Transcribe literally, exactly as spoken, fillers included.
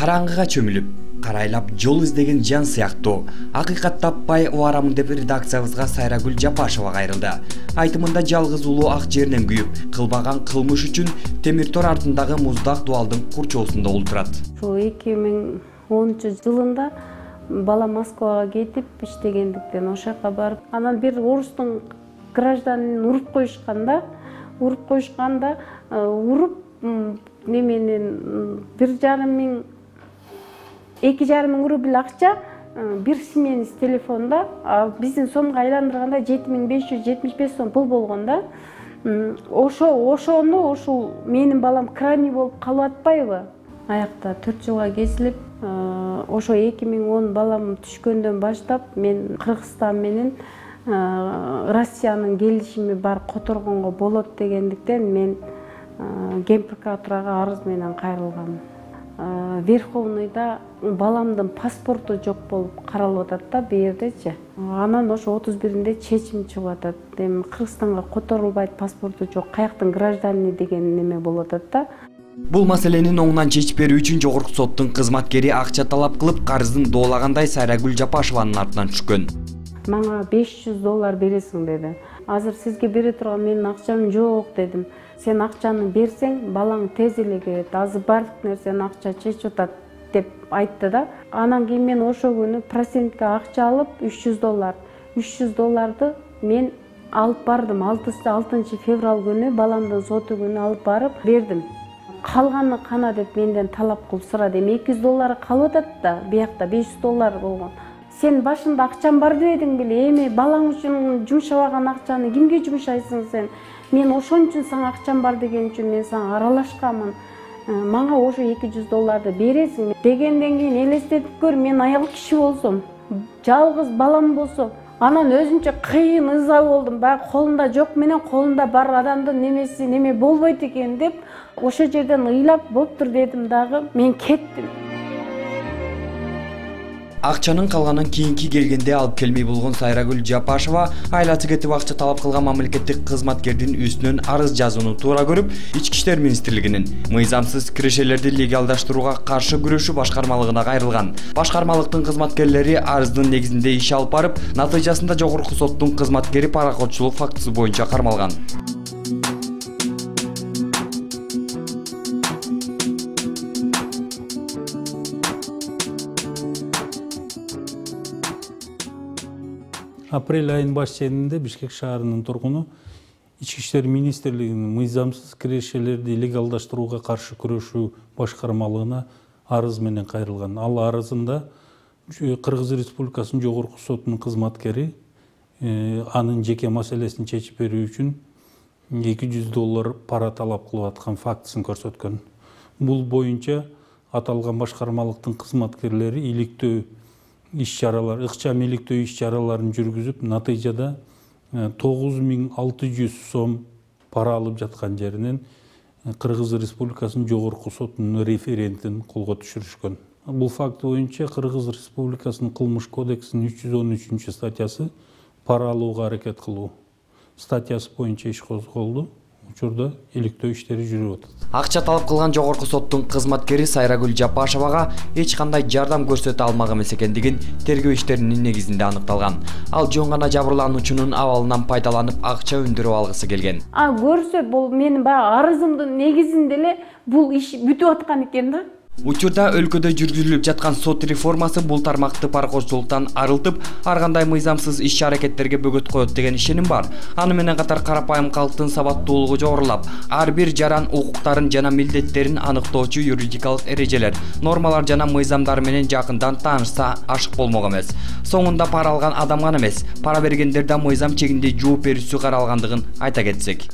караңгыга чөмүлүп карайлап жол издеген жан сыяктуу акыйкат таппай убарамын деп редакциябызга Сайрагүл Жапашева кайрылды. Айтымында жалгыз улуу ак жеринен күйүп, кылбаган кылмыш үчүн темир тор артындагы муздак дубалдын курчоосунда олтурат. Ошо эки миң онунчу жылында бала Москвага кетип иштегендиктен ошол жака барып, анан бир орустун гражданин уруп коюшканда, уруп коюшканда уруп неменен бир жарым миң эки жарым миң рубль акча бир сменис телефонда, биздин сомго айландырганда жети миң беш жүз жетимиш беш сом пул болгон да. Ошо ошону ошол менин балам крайний болуп калып атпайбы? Аякта төрт жылга кесилип, ошо эки миң он балам түшкөндөн баштап мен Кыргызстан менен Россиянын келишими бар которгонго болот дегендиктен мен Ген прокуратурага арыз менен кайрылгам. Верховныйда баламдын паспорту жок болуп каралып атат да бу жердечи. Анан ошо отуз биринде чечим чыгып атат. Эми Кыргызстанга которулбайт, паспорту жок, каяктын граждани деген неме болуп атат да. Бул маселенин оңунан чечип берүү үчүн жогорку соттун кызматкери акча талап кылып, карызын доолагандай Сайрагүл Жапашеванын артынан түшкөн. Мага беш жүз доллар бересиң деди. Азыр сизге бере турган менин акчам жок дедим. Сен акчаны берсең, балаң тез эле келет. Азыр бардык нерсени акча чечип атат деп айтты да. Анан кийин мен ошо күнү процентке акча алып үч жүз доллар. үч жүз долларды мен алып бардым. алтынчы февраль күнү баламдын соту күнү алып барып бердим. Калганы кана деп менден талап кылып сурады. Эми эки жүз доллары калып атат да, биякта беш жүз доллар болгон. Сен башында акчам бар дебедиң беле? Эми балаң үчүн жумшабаган акчаны кимге жумшайсың сен? Мен ошон үчүн сага акчам бар деген үчүн мен сага аралашканмын. Мага ошо эки жүз долларды бересиң дегенден кийин элестетип көр, мен аял киши болсом, жалгыз балам болсо, анан өзүнчө кыйын ыза болдум. Баягы колунда жок менен колунда бар адамдын немеси неме болбойт экен деп ошо жерден ыйлап болуптур дедим дагы мен кеттим. Акчанын калганын кийинки келгенде алып келмей болгон Сайрагүл Жапашева айласы кетип акча талап кылган мамлекеттик кызматкердин үстүнөн арыз жазууну туура көрүп, Ички иштер министрлигинин мыйзамсыз кирешелерди легалдаштырууга каршы күрөшүү башкармалыгына кайрылган. Башкармалыктын кызматкерлери арыздын негизинде иш алып барып, натыйжасында жогорку соттун кызматкери паракотчулук фактысы боюнча кармалган. Апрель айынын баш ченинде Бишкек шаарынын тургуну Ички иштер министрлигинин мыйзамсыз кирешелерди легалдаштырууга каршы күрөшүү башкармалыгына арыз менен кайрылган. Ал арызында Кыргыз Республикасынын жогорку сотунун кызматкери анын жеке маселесин чечип берүү үчүн эки жүз доллар пара талап кылып аткан фактысын көрсөткөн. Бул боюнча аталган башкармалыктын кызматкерлери иликтөө иш-чаралар, ыкчам иликтөө иш-чараларын жүргүзүп, натыйжада тогуз миң алты жүз сом пара алып жаткан жеринен Кыргыз Республикасынын жогорку сотунун референтин колго түшүрүшкөн. Бул факт боюнча Кыргыз Республикасынын кылмыш кодексинин үч жүз он үчүнчү статьясы пара алууга аракет кылуу статьясы боюнча иш козголду. Учурда иликтөө иштери жүрүп атат. Акча талап кылган жогорку соттун кызматкери Сайрагүл Жапашевага эч кандай жардам көрсөтө алмак эмес экендигин тергөө иштеринин негизинде аныкталган. Ал жөн гана жабырлануучунун абалынан пайдаланып акча өндүрүп алгысы келген. А көрсө бул менин баягы арызымдын негизинде эле бул иш бүтүп аткан экен да. Учурда өлкөдө жүргүзүлүп жаткан сот реформасы бул тармакты паракотчулуктан арылтып, ар кандай мыйзамсыз иш-аракеттерге бөгөт коет деген ишеним бар. Аны менен катар карапайым калктын сабаттуулугу жогорулап, ар бир жаран укуктарын жана милдеттерин аныктоочу юридикалык эрежелер, нормалар жана мыйзамдар менен жакындан таанышса ашык болмок эмес. Соңунда пара алган адам гана эмес, пара бергендер да мыйзам чегинде жооп берүүсү каралгандыгын айта кетсек.